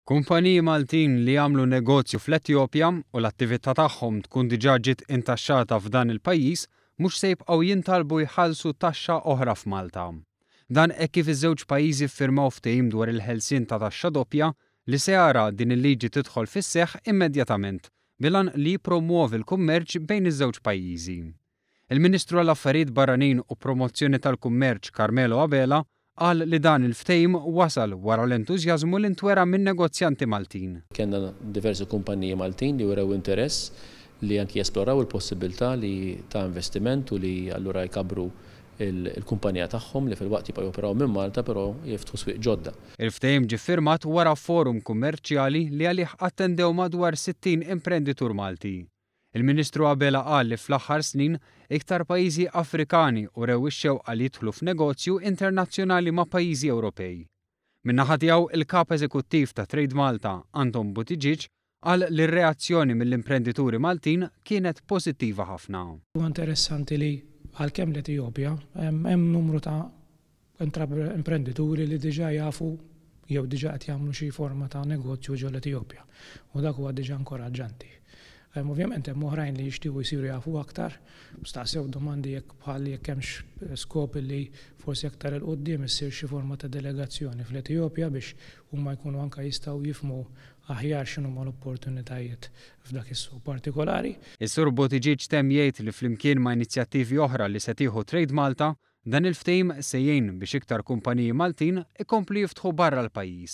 Kumpaniji Maltin li jagħmlu negozju fl-Etjopja u l-attività tagħhom tkun diġà ġiet intaxxata f'dan il-pajjiż mhux se jibqgħu jintalbu jħallsu taxxa oħra f'Malta. Dan hekk kif iż-żewġ pajjiżi ffirmaw ftehim dwar il-ħelsien ta' taxxa doppja li se jara din il-liġi tidħol fis-seħħ immedjatament bil-għan li jippromwovi l-kummerċ bejn iż-żewġ pajjiżi. Il-Ministru għall-Affarijiet Barranin u Promozzjoni tal-Kummerċ Carmelo Abela qal li dan il-ftehim wasal wara l-entużjażmu li ntwera min-negozjanti Maltin. Kellna diversi kumpaniji Maltin li wrew interess li anki jesploraw il-possibbiltà li ta' investiment u li allura jkabbru l-kumpanija tagħhom li filwaqt jibqgħu joperaw minn Malta però jiftħu swieq ġodda. Il-ftehim ġie ffirmat wara forum kummerċjali li għalih attendew madwar 60 imprenditur Malti. Il-Ministru Abela qal li fl-aħħar snin, iktar pajjiżi Afrikani urew ix-xewqa li jidħlu f'negozju internazzjonali ma' pajjiżi Ewropej. Min-naħa tiegħu, il-Kap Eżekuttiv ta' Trade Malta, Anton Buttigieg, qal li r-reazzjoni mill-imprendituri Maltin kienet pożittiva ħafna. Huwa interessanti li għalkemm l-Etijopja hemm numru ta' imprendituri li diġà jafu jew diġà qed jagħmlu xi forma ta' negozju ġol-Etijopja u dak huwa diġà inkoraġġanti. Ovvjament hemm oħrajn li jixtiequ jsiru jafu aktar, staqsew domandi jekk bħal jekk hemmx skop li forsi aktar 'il quddiem issir xi forma ta' delegazzjoni fl-Etijopja biex huma jkunu anke jistgħu jifhmu aħjar x'inhuma l-opportunitajiet f'dak is-suq partikolari. Is-Sur Buttigieg temm jgħid li flimkien ma' inizjattivi oħra li se tieħu Trade Malta, Dan il-ftehim se jgħin biex iktar kumpaniji Maltin ikomplu jiftħu barra l-pajjiż.